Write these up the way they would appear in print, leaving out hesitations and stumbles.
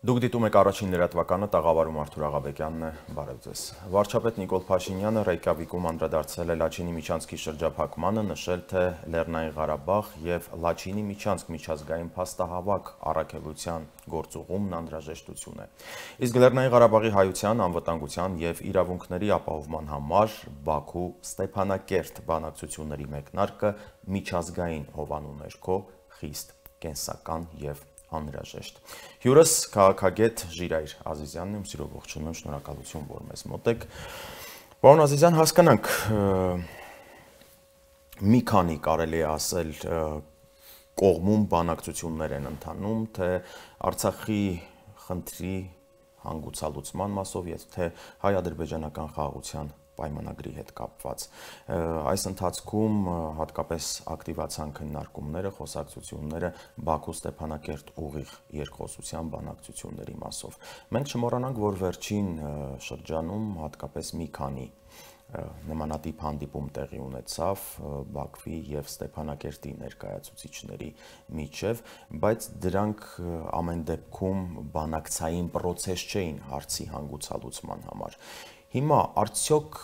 Դուք դիտում եք առաջին լրատվականը, տաղավարում Արթուր Աղաբեկյանն է, բարև ձեզ։ Վարչապետ Նիկոլ Փաշինյանը Ռեյկյավիկում անդրադարձել է Լաչինի միջանցքի շրջափակմանը, նշել, թե Լեռնային Ղարաբաղ եւ Լաչինի միջանցք միջազգային փաստահավաք առաքելության գործուղումն անհրաժեշտություն է։ Իսկ Լեռնային Ղարաբաղի հայության, անվտանգության եւ իրավունքների ապահովման համար Բաքու Ստեփանակերտ բանակցությունների մեկնարկը միջազգային հովանու ներքո խիստ կենսական եւ անհրաժեշտ։ Հյուրս քաղաքագետ Ժիրայր Ազիզյանն եմ, սիրով ողջունում, շնորհակալություն, որ մեզ մոտ եք։ Պարոն Ազիզյան, հասկանանք մի քանի կարելի է ասել կողմում բանակցություններ են ընթանում, թե Արցախի խնդրի հանգուցալուծման մասով, թե հայ-ադրբեջանական խաղաղության պայմանագրի հետ կապված։ Այս ընթացքում հատկապես ակտիվացան քննարկումները, խոսակցությունները Բաքու Ստեփանակերտ ուղիղ երկխոսության բանակցությունների մասով։ Մենք չմոռանանք, որ վերջին շրջանում հատկապես մի քանի նմանատիպ հանդիպում տեղի ունեցավ Բաքվի եւ Ստեփանակերտի ներկայացուցիչների միջև, բայց դրանք ամեն դեպքում բանակցային process չէին հարցի հանգուցալուծման համար։ Հիմա արդյոք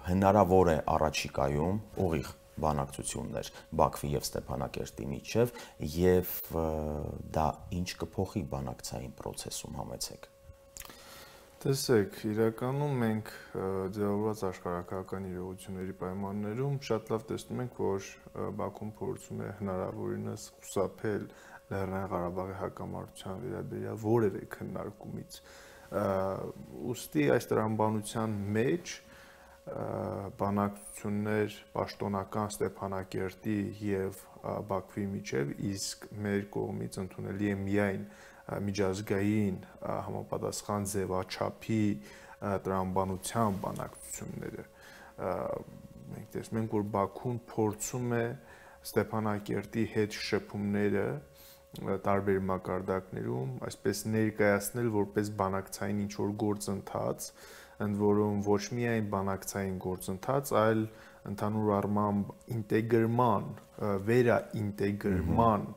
հնարավոր է առաջիկայում ուղիղ բանակցություններ Բաքվի եւ Ստեփանակերտի միջև եւ դա ինչ կփոխի բանակցային process-ում, համեցեք։ Տեսեք, իրականում մենք ձևավորված աշխարհակահաղական իրողությունների պայմաններում շատ լավ տեսնում ենք, որ Բաքուն փորձում է հնարավորինս խուսափել Լեռնային Ղարաբաղի հակամարտության վերաբերյալ որևէ քննարկումից։ Ուստի այս տրամաբանության մեջ բանակցություններ պաշտոնական Ստեփանակերտի եւ Բաքվի միջև, իսկ մեր կողմից ընդունելի է միայն միջազգային համապատասխան ձևաչափի տրամաբանության բանակցությունները։ Մենք տեսնում ենք, որ Բաքուն փորձում է Ստեփանակերտի հետ շփումները տարբեր մակարդակներում այսպես ներկայացնել որպես բանակցային ինչ-որ գործընթաց, ընդ որում ոչ միայն բանակցային գործընթաց, այլ ընդհանուր առմամբ ինտեգրման, վերաինտեգրման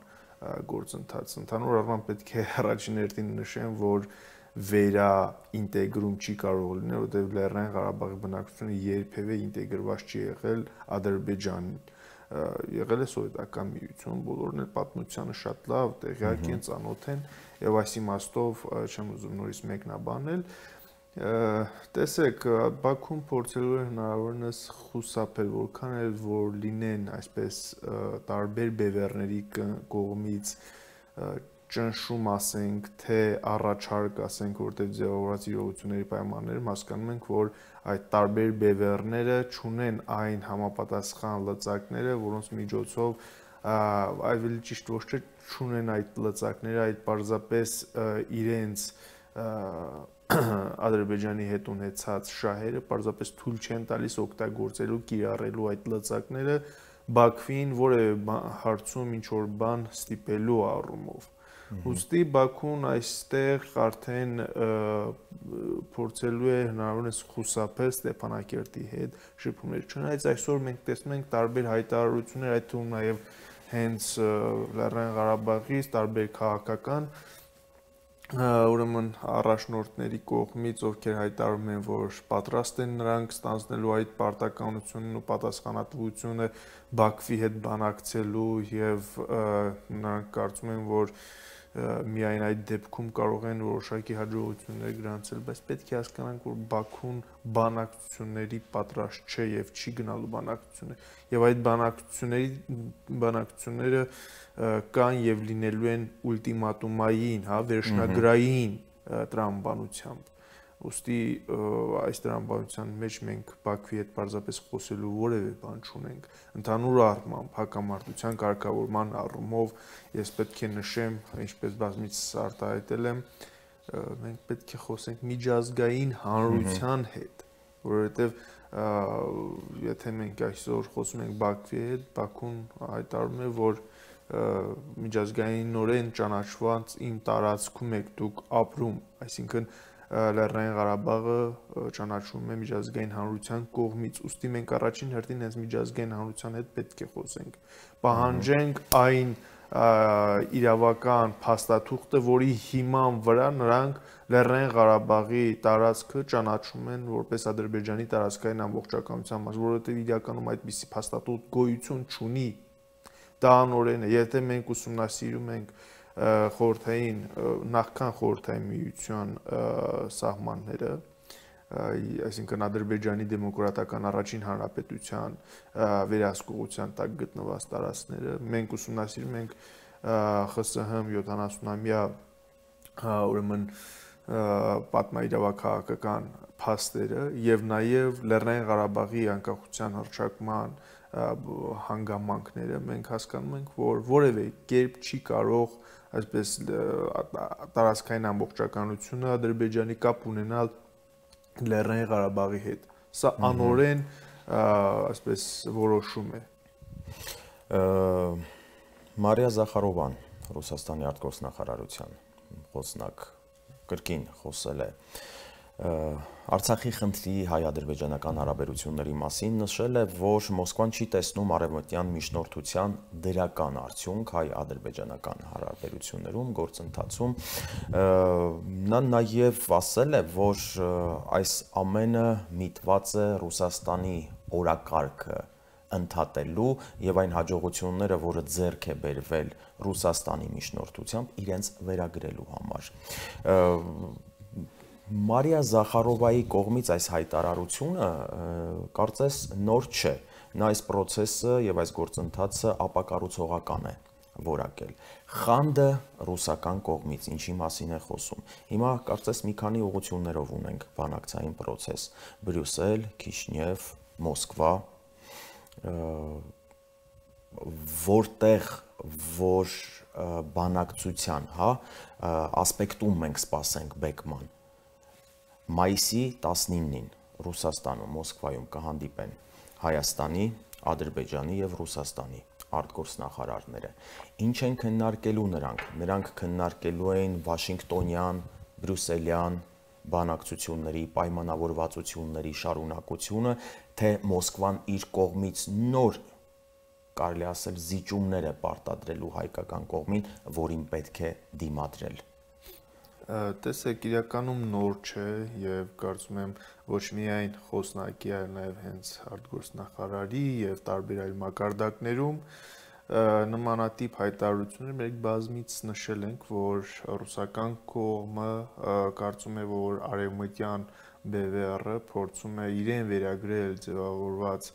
գործընթաց։ Ընդհանուր առմամբ պետք է առաջին հերթին նշեմ, որ վերաինտեգրում չի կարող լինել, որտեղ Լեռնային Ղարաբաղի բնակչությունը երբևէ ինտեգրված չի եղել Ադրբեջանին, եղել է սովետական միություն, բոլորն էլ պատմությանը շատ լավ տեղյակ են, ծանոթ են, եւ այս իմաստով չեմ ուզում նորից մեկնաբանել։ Տեսեք, Բաքուն փորձելու է հնարավորինս խուսափել, որքան էլ որ լինեն այսպես տարբեր բևեռների կողմից ճնշում, ասենք, թե առաջարկ, ասենք, որտեղ ձևավորված իրողությունների պայմաններում հասկանում ենք, որ այդ տարբեր բևեռները չունեն այն համապատասխան լծակները, որոնց միջոցով ավելի ճիշտ ոչ թե չունեն այդ լծակները, այդ պարզապես իրենց Ադրբեջանի հետ ունեցած շահերը պարզապես թույլ չեն տալիս օգտագործելու, կիրառելու այդ լծակները Բաքվին որևէ հարցում ինչ-որ բան ստիպելու առումով։ Ուստի Բաքուն այստեղ արդեն փորձելու է հնարավորինս խուսափել Ստեփանակերտի հետ շփումներ։ Չնայած այսօր մենք տեսնում ենք տարբեր հայտարարություններ, այդ թվում նաև հենց Լեռնային Ղարաբաղից տարբեր քաղաքական ուրեմն առաջնորդների կողմից, ովքեր հայտարարում են, որ պատրաստ են նրանք ստանձնելու այդ պարտականությունն ու պատասխանատվությունը Բաքվի հետ բանակցելու եւ նրանք կարծում են, որ միայն այդ դեպքում կարող են որոշակի հաջողություններ գրանցել, բայց պետք է հասկանանք, որ Բաքուն բանակցությունների պատրաստ չէ եւ չի գնալու բանակցություններ, եւ այդ բանակցությունները կան եւ լինելու են ուլտիմատումային, վերջնագրային տրամաբանությամբ։ Ուստի այս տրամաբանության մեջ մենք Բաքվի հետ պարզապես խոսելու որևէ բան չունենք։ Ընդհանուր առմամբ հակամարտության կարգավորման առումով ես պետք է նշեմ, ինչպես բազմիցս արտահայտել եմ, մենք պետք է խոսենք միջազգային հանրության հետ, որովհետև եթե մենք այսօր խոսում ենք Բաքվի հետ, Բաքուն հայտարարում է, որ միջազգայինորեն ճանաչված իմ տարածքում եք դուք ապրում, այսինքն Լեռնային Ղարաբաղը ճանաչվում է միջազգային հանրության կողմից, ուստի մենք առաջին հերթին հենց միջազգային հանրության հետ պետք է խոսենք, պահանջենք այն իրավական փաստաթուղթը, որի հիման վրա նրանք Լեռնային Ղարաբաղի տարածքը ճանաչում են որպես Ադրբեջանի տարածքային ամբողջականության մաս, որովհետև իրականում այդպիսի փաստաթուղթ գոյություն չունի։ Դա անօրեն է, եթե մենք ուսումնասիրում ենք նախքան խորհրդային միության սահմանները, այսինքն Ադրբեջանի դեմոկրատական առաջին հանրապետության վերահսկողության տակ գտնված տարածքները, մենք ուսումնասիրում ենք ԽՍՀՄ 70-ամյա ուրեմն պատմաիրավաքաղաքական փաստերը եւ նաեւ Լեռնային Ղարաբաղի անկախության հռչակման հանգամանքները, մենք հասկանում ենք, որ որևէ կերպ չի կարող այսպես տարածքային ամբողջականությունը Ադրբեջանի կապ ունենալ Լեռնային Ղարաբաղի հետ։ Սա անօրեն այսպես որոշում է։ Մարիա Զախարովան, Ռուսաստանի արտգործնախարարության խոսնակ, կրկին խոսել է Արցախի խնդրի հայ-ադրբեջանական հարաբերությունների մասին, նշել է, որ Մոսկվան չի տեսնում արևմտյան միջնորդության դրական արդյունք հայ-ադրբեջանական հարաբերություններում, գործընթացում։ Նա նաև ասել է, որ այս ամենը միտված է Ռուսաստանի օրակարգը ընդհատելու եւ այն հաջողությունները, որը ձեռք է բերվել Ռուսաստանի միջնորդությամբ, իրենց վերագրելու համար։ Մարիա Զախարովայի կողմից այս հայտարարությունը կարծես նոր չէ։ Նա այս process-ը եւ այս գործընթացը ապակառուցողական է որակել։ Խանդը ռուսական կողմից ինչի մասին է խոսում։ Հիմա կարծես մի քանի ուղղություններով ունենք բանակցային process՝ Բրյուսել, Քիշնև, Մոսկվա, որտեղ որ բանակցության, ասպեկտում մենք սպասենք բեկման։ Մայիսի 19-ին Ռուսաստանում, Մոսկվայում կհանդիպեն Հայաստանի, Ադրբեջանի եւ Ռուսաստանի արտգործնախարարները։ Ինչ են քննարկելու նրանք։ Նրանք քննարկելու էին Վաշինգտոնյան, Բրյուսելյան բանակցությունների, պայմանավորվածությունների շարունակությունը, թե Մոսկվան իր կողմից նոր, կարելի ասել, զիջումներ է պարտադրելու հայկական կողմին, որին պետք է դիմադրել։ Տեսեք, իրականում նոր չէ եւ կարծում եմ ոչ միայն խոսնակի, այլ նաեւ հենց արտգործնախարարի եւ տարբեր այլ մակարդակներում նմանատիպ հայտարարություններ մենք բազմից նշել ենք, որ ռուսական կողմը կարծում է, որ արևմտյան BVR-ը փորձում է իրեն վերագրել ձևավորված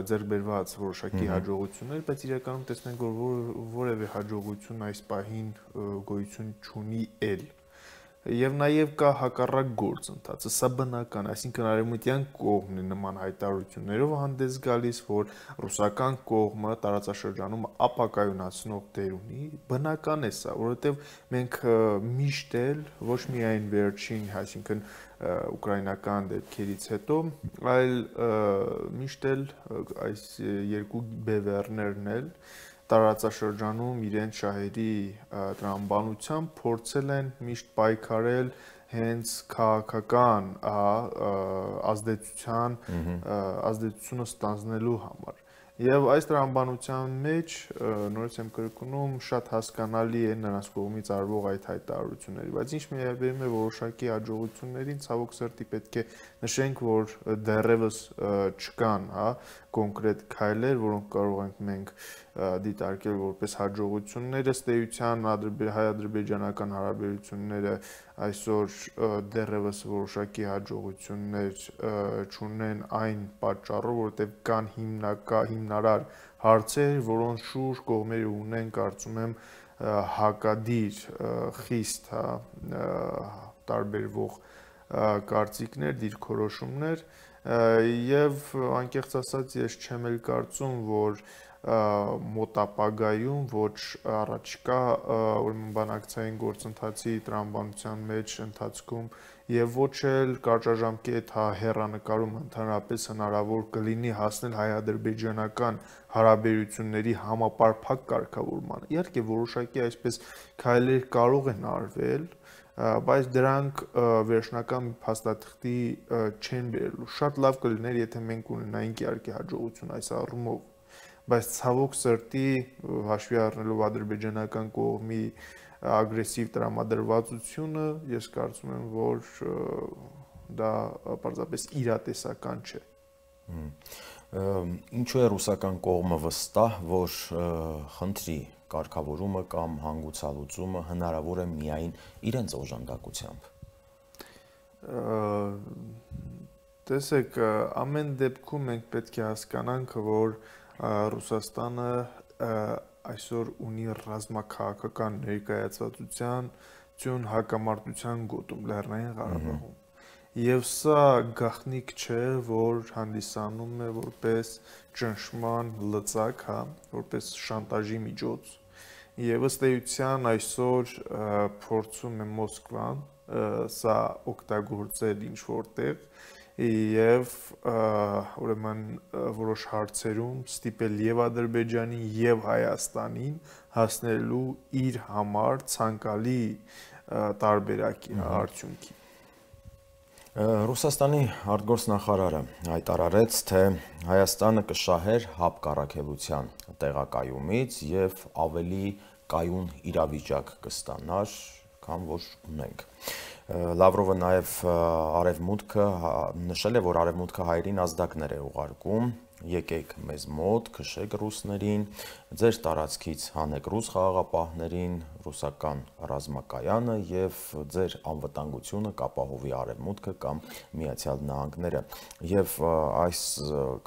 ձեռքբերված որոշակի հաջողություններ, բայց իրականում տեսնենք, որ որևէ հաջողություն այս պահին գոյություն չունի էլ։ Եվ նաև կա հակառակ գործընթացը, սա բնական, այսինքն արևմտյան կողմն է նման հայտարարություններով հանդես գալիս, որ ռուսական կողմը տարածաշրջանում ապակայունացնող դեր ունի, բնական է սա, որովհետև մենք միշտ էլ ոչ միայն վերջին, այսինքն ուկրաինական դեպքերից հետո, այլ միշտ էլ այս երկու BVR-ներն էլ տարածաշրջանում իրենց շահերի տրամաբանությամբ փորձել են միշտ պայքարել հենց քաղաքական ազդեցությունը ստանձնելու համար։ Եվ այս տրամաբանության մեջ, նորից եմ կրկնում, շատ հասկանալի է նրանց կողմից արվող այդ հայտարարությունները, բայց ինչ վերաբերում է որոշակի հաջողություններին, ցավոք սրտի պետք է նշենք, որ դեռևս չկան, կոնկրետ քայլեր, որոնք կարող ենք մենք դիտարկել որպես հաջողություններ, ըստ էության հայ-ադրբեջանական հարաբերությունները այսօր դեռևս որոշակի հաջողություններ չունեն այն պատճառով, որովհետև կան հիմնարար հարցեր, որոնց շուրջ կողմերը ունեն, կարծում եմ, հակադիր խիստ տարբերվող կարծիքներ, դիրքորոշումներ, եւ անկեղծ ասած ես չեմ էլ կարծում, որ մոտ ապագայում ոչ առաջիկա ուրեմն բանակցային գործընթացի տրամաբանության մեջ ընթացքում եւ ոչ էլ կարճաժամկետ հեռանկարում ընդհանրապես հնարավոր կլինի հասնել հայ-ադրբեջանական հարաբերությունների համապարփակ կարգավորմանը։ Իհարկե որոշակի այսպես քայլեր կարող են արվել, բայց դրանք վերջնական փաստաթղթի չեն բերելու։ Շատ լավ կլիներ, եթե մենք ունենայինք իհարկե հաջողություն այս առումով, բայց ցավոք սրտի հաշվի առնելով ադրբեջանական կողմի ագրեսիվ տրամադրվածությունը, ես կարծում եմ, որ դա պարզապես իրատեսական չէ։ Ինչու է ռուսական կողմը վստահ, որ խնդրի կարգավորումը կամ հանգուցալուծումը հնարավոր է միայն իրենց օժանդակությամբ։ Տեսեք, ամեն դեպքում մենք պետք է հասկանանք, որ Ռուսաստանը այսօր ունի ռազմաքաղաքական ներկայացվածություն հակամարտության գոտում Լեռնային Ղարաբաղում։ Եվ սա գաղտնիք չէ, որ հանդիսանում է որպես ճնշման լծակ, որպես շանտաժի միջոց։ Եվ ըստ էության այսօր փորձում է Մոսկվան սա օգտագործել ինչ-որտեղ եւ ուրեմն որոշ հարցերում ստիպել եւ Ադրբեջանին եւ Հայաստանին հասնելու իր համար ցանկալի տարբերակի արդյունքի։ Ռուսաստանի արտգործնախարարը հայտարարեց, թե Հայաստանը կշահեր ՀԱՊԿ կառաքելության տեղակայումից եւ ավելի կայուն իրավիճակ կստանար, քան որ ունենք։ Լավրովը նաև նշել է, որ Արևմուտքը հայերին ազդակներ է ուղարկում, եկեք մեզ մոտ, քշեք ռուսներին, ձեր տարածքից հանեք ռուս խաղաղապահներին, ռուսական ռազմակայանը եւ ձեր անվտանգությունը կապահովի Արևմուտքը կամ Միացյալ Նահանգները։ Եվ այս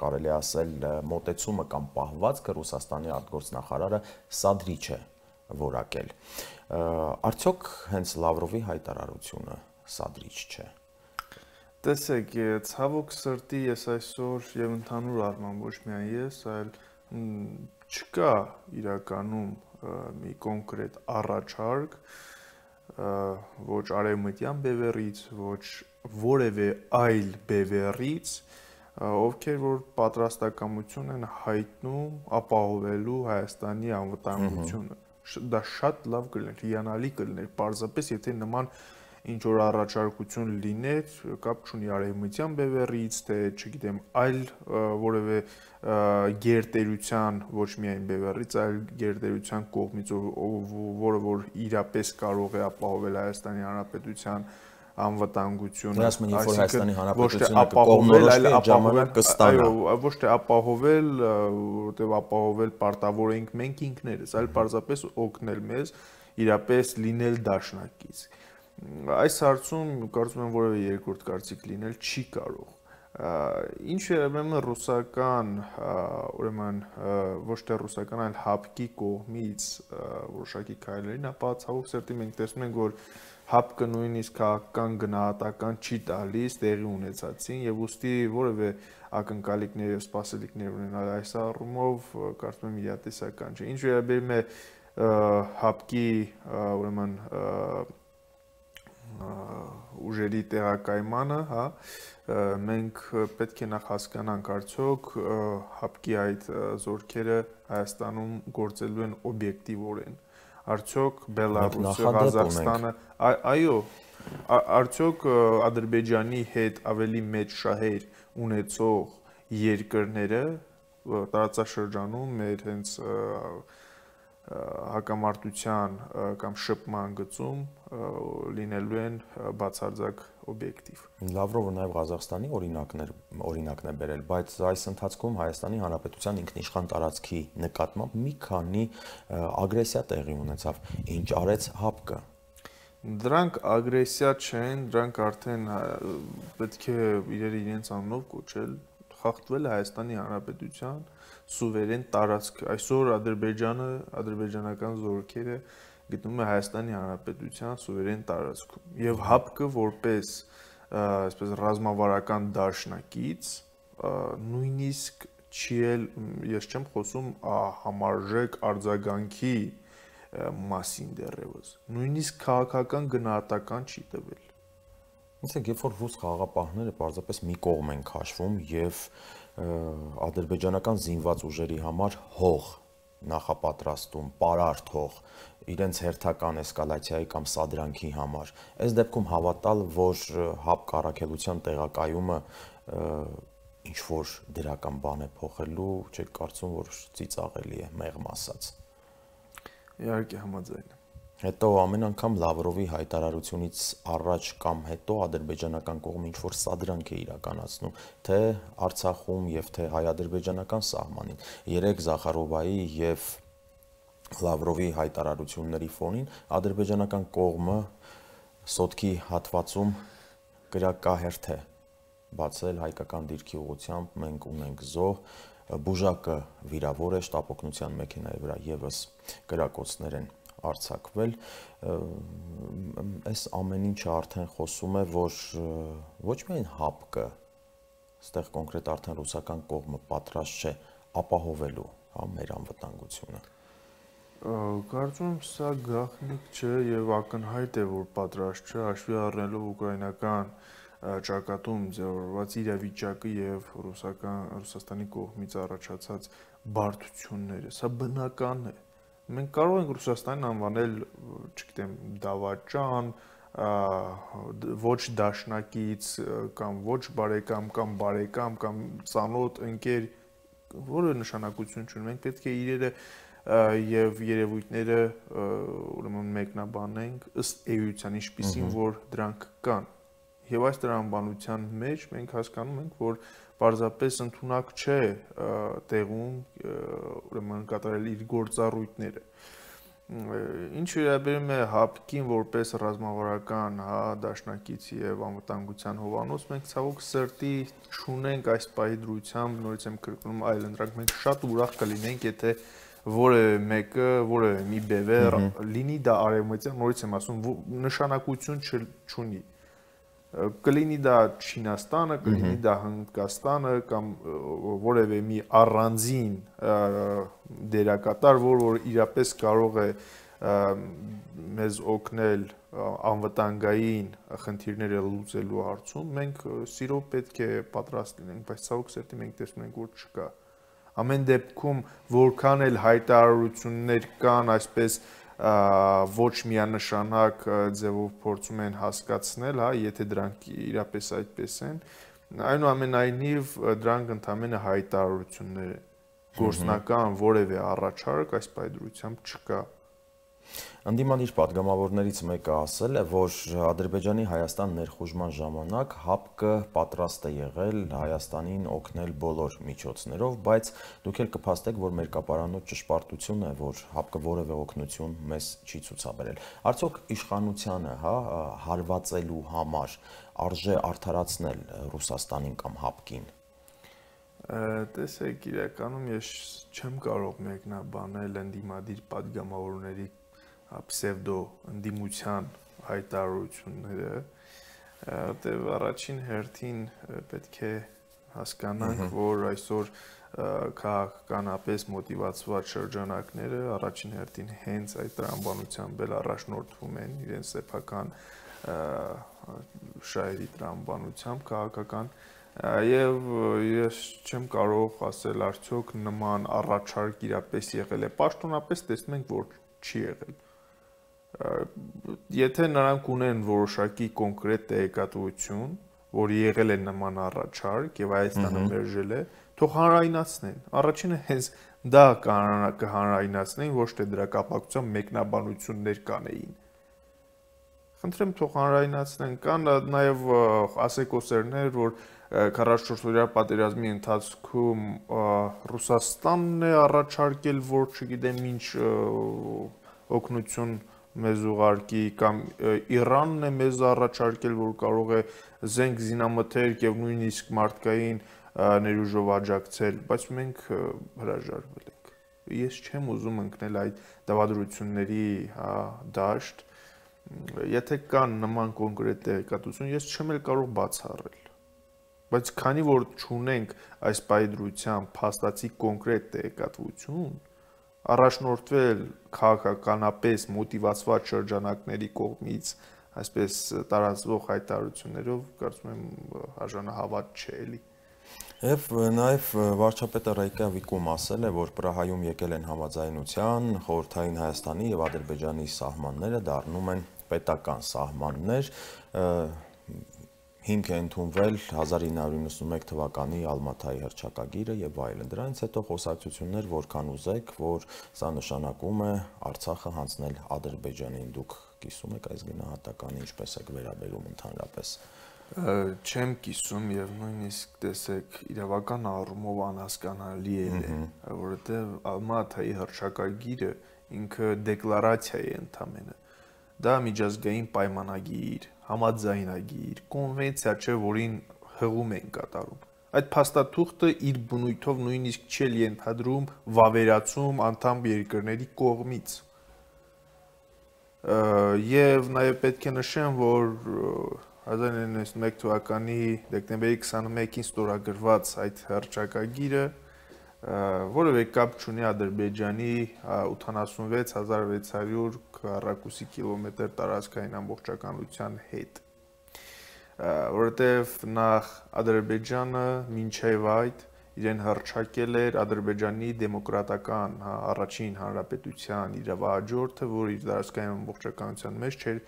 կարելի ասել մոտեցումը կամ պահվածքը Ռուսաստանի արտգործնախարարը սադրիչ է որակել։ Արդյոք հենց Լավրովի հայտարարությունը սադրիչ չէ։ Տեսեք, ցավոք սրտի ես այսօր եւ ընդհանուր առմամբ ոչ միայն ես, այլ չկա իրականում մի կոնկրետ առաջարկ, ոչ արևմտյան բևեռից, ոչ որևէ այլ բևեռից, ովքեր որ պատրաստակամություն են հայտնում ապահովելու Հայաստանի անվտանգությունը։ Դա շատ լավ կլիներ, հիանալի կլիներ, պարզապես եթե նման ինչ որ առաջարկություն լիներ, կապ չունի արևմտյան բևեռից, թե չգիտեմ, այլ որևէ գերտերության, ոչ միայն բևեռից, այլ գերտերության կողմից, որը որ իրապես կարող է ապահովել Հայաստանի Հանրապետության անվտանգությունը, ոչ թե ապահովել, որտեղ ապահովել պարտավոր ենք մենք ինքներս, այլ պարզապես օգնել մեզ իրապես լինել դաշնակից։ Այս հարցում կարծում եմ որևէ երկրորդ կարծիք լինել չի կարող։ Ինչ երևում է ռուսական, ուրեմն ոչ թե ռուսական, այլ ՀԱՊԿ-ի կողմից որոշակի քայլերին, ապա ցավոք սրտի մենք տեսնում ենք, որ ՀԱՊԿ-ը նույնիսկ քաղաքական գնահատական չի տալիս տեղի ունեցածին եւ ուստի որևէ ակնկալիքներ եւ սպասելիքներ ունենալ այս առումով կարծում եմ իրատեսական չէ։ Ինչ վերաբերում է ՀԱՊԿ-ի ուրեմն ուժերի տեղակայմանը, մենք պետք է նախ հասկանանք արդյոք ՀԱՊԿ-ի այդ զորքերը Հայաստանում գործելու են օբյեկտիվորեն, արդյոք Բելարուսը, Ղազախստանը, այո, արդյոք Ադրբեջանի հետ ավելի մեծ շահեր ունեցող երկրները տարածաշրջանում մեր հենց հակամարտության կամ շփման գծում լինելու են բացարձակ օբյեկտիվ։ Լավրովը նաև Ղազախստանի օրինակն է բերել, բայց այս ընթացքում Հայաստանի Հանրապետության ինքնիշխան տարածքի նկատմամբ մի քանի ագրեսիա տեղի ունեցավ։ Ինչ արեց ՀԱՊԿ-ը։ Դրանք ագրեսիա չեն, դրանք արդեն պետք է իրենց անունով կոչել, խախտվել է Հայաստանի Հանրապետության սուվերեն տարածք։ Այսօր Ադրբեջանը, ադրբեջանական զորքերը գտնվում է Հայաստանի Հանրապետության սուվերեն տարածքում։ Եվ ՀԱՊԿ-ը որպես այսպես ռազմավարական դաշնակից նույնիսկ չի էլ, ես չեմ խոսում համարժեք արձագանքի մասին դեռևս, նույնիսկ քաղաքական գնահատական չի տվել։ Իսկ երբ որ ռուս խաղաղապահները պարզապես մի կողմ են քաշվում եւ ադրբեջանական զինված ուժերի համար հող նախապատրաստում, պարարտ հող իրենց հերթական էսկալացիայի կամ սադրանքի համար, այս դեպքում հավատալ, որ ՀԱՊԿ կառաքելության տեղակայումը ինչ-որ դրական բան է փոխելու, չեք կարծում, որ ծիծաղելի է, մեղմ ասած։ Իհարկե համաձայն եմ։ Հետո ամեն անգամ Լավրովի հայտարարությունից առաջ կամ հետո ադրբեջանական կողմը ինչ-որ սադրանք է իրականացնում, թե Արցախում եւ թե հայ-ադրբեջանական սահմանին։ Երեք Զախարովայի եւ Լավրովի հայտարարությունների ֆոնին ադրբեջանական կողմը սոտքի հատվածում կրակահերթ է բացել հայկական դիրքի ուղղությամբ, մենք ունենք զոհ, բուժակը վիրավոր է, շտապօգնության մեքենայի վրա եւս կրակոցներ են արձակվել, այս ամեն ինչը արդեն խոսում է, որ ոչ միայն ՀԱՊԿ-ը, այստեղ կոնկրետ արդեն ռուսական կողմը պատրաստ չէ ապահովելու, մեր անվտանգությունը։ Կարծում եմ սա գաղտնիք չէ եւ ակնհայտ է, որ պատրաստ չէ, հաշվի առնելով ուկրաինական ճակատում ձևավորված իրավիճակը եւ Ռուսաստանի կողմից առաջացած բարդությունները։ Սա բնական է։ Մենք կարող ենք Ռուսաստանին անվանել, չգիտեմ, դավաճան, ոչ դաշնակից կամ ոչ բարեկամ կամ բարեկամ կամ ծանոթ ընկեր, որը նշանակություն չունի։ Մենք պետք է իրերը եւ երևույթները ուրեմն մեկնաբանենք ըստ էության, ինչպիսին որ դրանք կան։ Եվ այս տրամաբանության մեջ մենք հասկանում ենք, որ պարզապես ընդունակ չէ տեղում ուրեմն կատարել իր գործառույթները։ Ինչ վերաբերում է ՀԱՊԿ-ին որպես ռազմավարական դաշնակից եւ անվտանգության հովանոց, մենք ցավոք սրտի չունենք այս պահի դրությամբ, նորից եմ կրկնում, այլ ընդրանք մենք շատ ուրախ կլինենք, եթե որևէ մեկը, որևէ մի բևեռ լինի դա արևմտյան, նորից եմ ասում, նշանակություն չունի։ Կլինի դա Չինաստանը, կլինի դա Հնդկաստանը կամ որևէ մի առանձին դերակատար, որ իրապես կարող է մեզ օգնել անվտանգային խնդիրները լուծելու հարցում, մենք սիրով պետք է պատրաստ լինենք, բայց ցավոք սրտի մենք տեսնում ենք, որ չկա։ Ամեն դեպքում որքան էլ հայտարարություններ կան, այսպես ոչ միանշանակ ձևով փորձում են հասկացնել, եթե դրանք իրապես այդպես են, այնուամենայնիվ դրանք ընդհանրապես հայտարարություններ են, գործնական որևէ առաջարկ այս պայմանությամբ չկա։ Ընդդիմանիր պատգամավորներից մեկը ասել է, որ Ադրբեջանի Հայաստան ներխուժման ժամանակ ՀԱՊԿ-ը պատրաստ է եղել Հայաստանին օգնել բոլոր միջոցներով, բայց դուք էլ կփաստեք, որ մերկապարանոց ճշմարտություն է, որ ՀԱՊԿ-ը որևէ օգնություն մեզ չի ցուցաբերել։ Արդյոք իշխանությանը, հարվածելու համար արժե արդարացնել Ռուսաստանին կամ ՀԱՊԿ-ին։ Տեսեք, իրականում ես չեմ կարող մեկնաբանել ընդդիմադիր պատգամավորների պսևդո ընդդիմության հայտարարությունները, որտեղ առաջին հերթին պետք է հասկանանք, որ այսօր քաղաքականապես մոտիվացված շրջանակները առաջին հերթին հենց այդ տրամաբանությամբ էլ առաջնորդվում են իրենց սեփական շահերի տրամաբանությամբ քաղաքական եւ ես չեմ կարող ասել արդյոք նման առաջարկ իրապես եղել է, պաշտոնապես տեսնում ենք, որ չի եղել։ Եթե նրանք ունեն որոշակի կոնկրետ տեղեկատվություն, որ եղել է նման առաջարկ եւ Հայաստանը մերժել է, թող հանրայնացնեն։ Առաջինը հենց դա կհանրայնացնեն, ոչ թե դրա կապակցությամբ մեկնաբանություններ կանեին։ Խնդրեմ թող հանրայնացնեն, կան նաեւ ասեկոսերներ, որ 44-օրյա պատերազմի ընթացքում Ռուսաստանն է առաջարկել, որ չգիտեմ ինչ օգնություն մեզ ուղարկի կամ Իրանն է մեզ առաջարկել, որ կարող է զենք զինամթերք եւ նույնիսկ մարդկային ներուժով աջակցել, բայց մենք հրաժարվել ենք։ Ես չեմ ուզում ընկնել այդ դավադրությունների դաշտ, եթե կան նման կոնկրետ տեղեկատվություն, ես չեմ էլ կարող բացառել։ Բայց քանի որ չունենք այս պայդրությամբ փաստացի կոնկրետ տեղեկատվություն, առաջնորդվել քաղաքականապես մոտիվացված շրջանակների կողմից այսպես տարածվող հայտարարություններով, կարծում եմ արժանահավատ չէ էլի։ Եվ նաև վարչապետը Ռեյկյավիկում ասել է, որ Պրահայում եկել են համաձայնության, խորհրդային Հայաստանի եւ Ադրբեջանի սահմանները դառնում են պետական սահմաններ։ հիմք է ընդունվել 1991 թվականի Ալմաթայի հռչակագիրը եւ այլն։ Դրանից հետո խոսակցություններ որքան ուզեք, որ սա նշանակում է Արցախը հանձնել Ադրբեջանին։ Դուք կիսում եք այս գնահատականը, ինչպես եք վերաբերում ընդհանրապես։ Չեմ կիսում եւ նույնիսկ տեսեք իրավական առումով անհասկանալի է, որովհետեւ Ալմաթայի հռչակագիրը ինքը դեկլարացիա է ընդամենը։ Դա միջազգային պայմանագիր, համաձայնագիր, կոնվենցիա չէ, որին հղում են կատարում։ Այդ փաստաթուղթը իր բնույթով նույնիսկ չի ենթադրում վավերացում անդամ երկրների կողմից։ Եվ նաև պետք է նշեմ, որ 1991 թվականի դեկտեմբերի 21-ին ստորագրված այդ հռչակագիրը որևէ կապ չունի Ադրբեջանի 86600 քառակուսի կիլոմետր տարածքային ամբողջականության հետ, որովհետև նախ Ադրբեջանը մինչև այդ իրեն հռչակել էր Ադրբեջանի դեմոկրատական առաջին հանրապետության իրավահաջորդը, որ իր տարածքային ամբողջականության մեջ չէր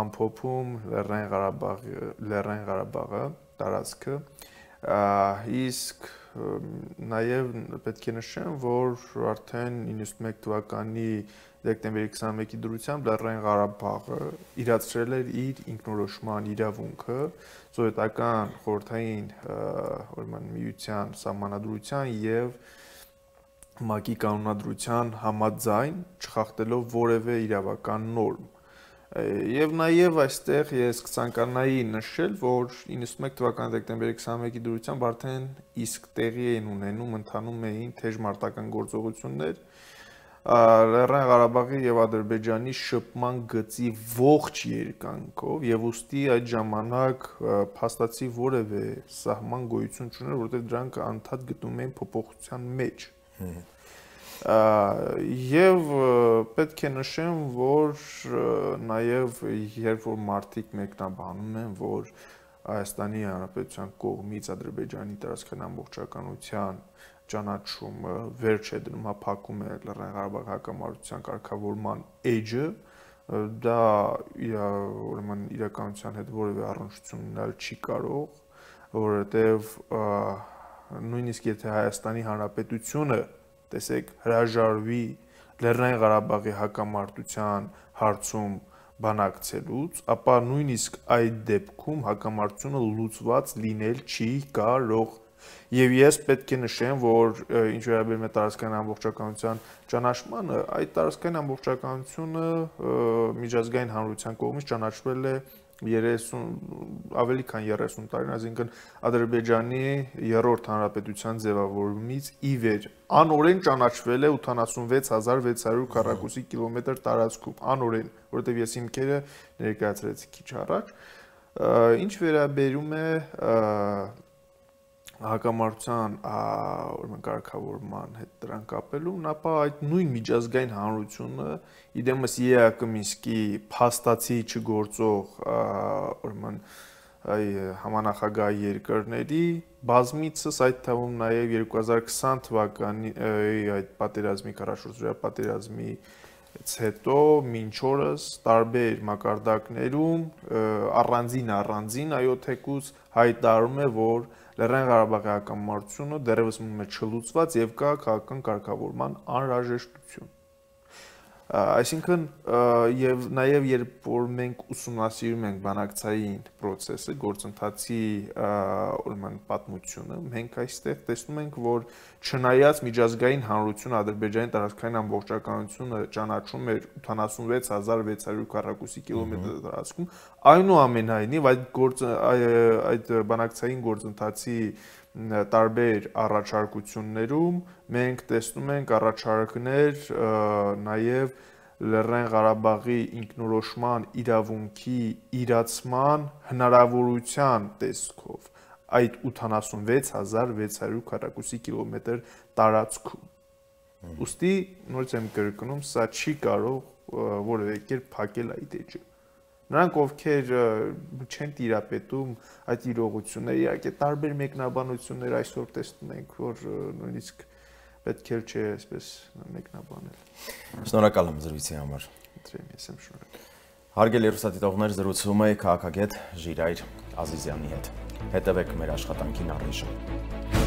ամփոփում Լեռնային Ղարաբաղը տարածքը, իսկ նաև պետք է նշեմ, որ արդեն 91 թվականի դեկտեմբերի 21-ի դրությամբ Լեռնային Ղարաբաղը իրացրել էր իր ինքնորոշման իրավունքը սովետական խորհրդային միության սահմանադրության եւ ՄԱԿ-ի կանոնադրության համաձայն, չխախտելով որևէ իրավական նորմ։ Եվ նաև այստեղ ես կցանկանայի նշել, որ 91 թվականի դեկտեմբերի 21-ի դրությամբ արդեն իսկ տեղի էին ունենում, ընթանում էին թեժ մարտական գործողություններ Լեռնային Ղարաբաղի եւ Ադրբեջանի շփման գծի ողջ երկայնքով եւ ուստի այդ ժամանակ փաստացի որևէ սահման գոյություն չուներ, որովհետեւ դրանք անդադ գտնվում էին փոփոխության մեջ։ Եվ պետք է նշեմ, որ նաև երբ որ մարդիկ մեկնաբանում են, որ Հայաստանի Հանրապետության կողմից Ադրբեջանի տարածքային ամբողջականության ճանաչումը վերջ է դնում, հապակում է Լեռնային Ղարաբաղի հակամարտության կարգավորման էջը, դա ուրեմն իրականության հետ որևէ առնչություն ունենալ չի կարող, որովհետև նույնիսկ եթե Հայաստանի Հանրապետությունը տեսեք հրաժարվի Լեռնային Ղարաբաղի հակամարտության հարցում բանակցելուց, ապա նույնիսկ այդ դեպքում հակամարտությունը լուծված լինել չի կարող։ Եվ ես պետք է նշեմ, որ ինչ վերաբերում է տարածքային ամբողջականության ճանաչմանը, այդ տարածքային ամբողջականությունը միջազգային հանրության կողմից ճանաչվել է ավելի քան 30 տարին, այսինքն Ադրբեջանի երրորդ հանրապետության ձևավորումից ի վեր անօրեն ճանաչվել է 86600 քառակուսի կիլոմետր տարածքում, անօրեն, որովհետև ես հիմքերը ներկայացրեցի քիչ առաջ։ Ինչ վերաբերում է հակամարտության կարգավորման հետ դրան կապելուն, ապա այդ նույն միջազգային հանրությունը իդեմս ԵԱԿ Մինսկի փաստացի չգործող համանախագահ երկրների բազմիցս, այդ թվում նաև 2020 թվականի այդ պատերազմի 44-օրյա պատերազմից հետո մինչ օրս տարբեր մակարդակներում առանձին այոթեկուց հայտարարում է, որ Լեռնային Ղարաբաղի հակամարտությունը դեռևս մնում է չլուծված եւ կա քաղաքական կարգավորման անհրաժեշտություն։ Այսինքն եւ նաեւ երբ որ մենք ուսումնասիրում ենք բանակցային process-ը, գործընթացի ուրեմն պատմությունը, մենք այստեղ տեսնում ենք, որ չնայած միջազգային հանրությունը Ադրբեջանի տարածքային ամբողջականությունը ճանաչում էր 86600 քառակուսի կիլոմետր տարածքում, այնուամենայնիվ այդ բանակցային գործընթացի տարբեր առաջարկություններում մենք տեսնում ենք առաջարկներ նաև Լեռնային Ղարաբաղի ինքնորոշման իրավունքի իրացման հնարավորության տեսքով այդ 86600 քառակուսի կիլոմետր տարածքում։ Ուստի նորից եմ կրկնում, սա չի կարող որևէ կերպ փակել այդ էջը։ Նրանք ովքեր չեն տիրապետում այդ իրողությունները, իհարկե տարբեր մեկնաբանություններ այսօր տեսնում ենք, որ նույնիսկ պետք է չէ այսպես մեկնաբանել։ Շնորհակալ եմ զրույցի համար։ Ես եմ շնորհակալ։ Հարգելի հեռուստադիտողներ, զրուցում է քաղաքագետ Ժիրայր Ազիզյանի հետ։ Հետևեք մեր աշխատանքին առայժմ։